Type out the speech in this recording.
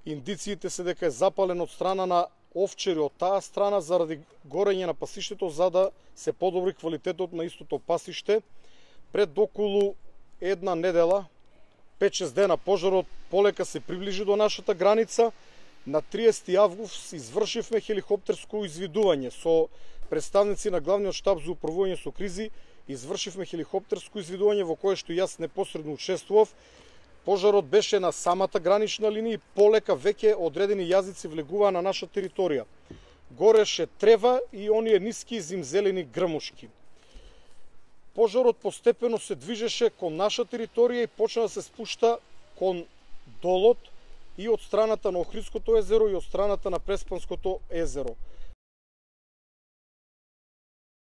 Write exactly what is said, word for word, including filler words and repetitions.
Индициите се дека е запален од страна на овчари од таа страна заради горење на пасиштето, за да се подобри квалитетот на истото пасиште. Пред околу една недела, пет-шест дена, пожарот полека се приближи до нашата граница. На триесети август извршивме хеликоптерско извидување со представници на главниот штаб за управување со кризи. Извршивме хеликоптерско извидување во кое што јас непосредно учествував. Пожарот беше на самата гранична линија и полека веќе одредени јазици влегуваа на наша територија. Гореше трева и оние ниски зимзелени грмушки. Пожарот постепено се движеше кон наша територија и почна да се спушта кон долот и од страната на Охридското езеро и од страната на Преспанското езеро.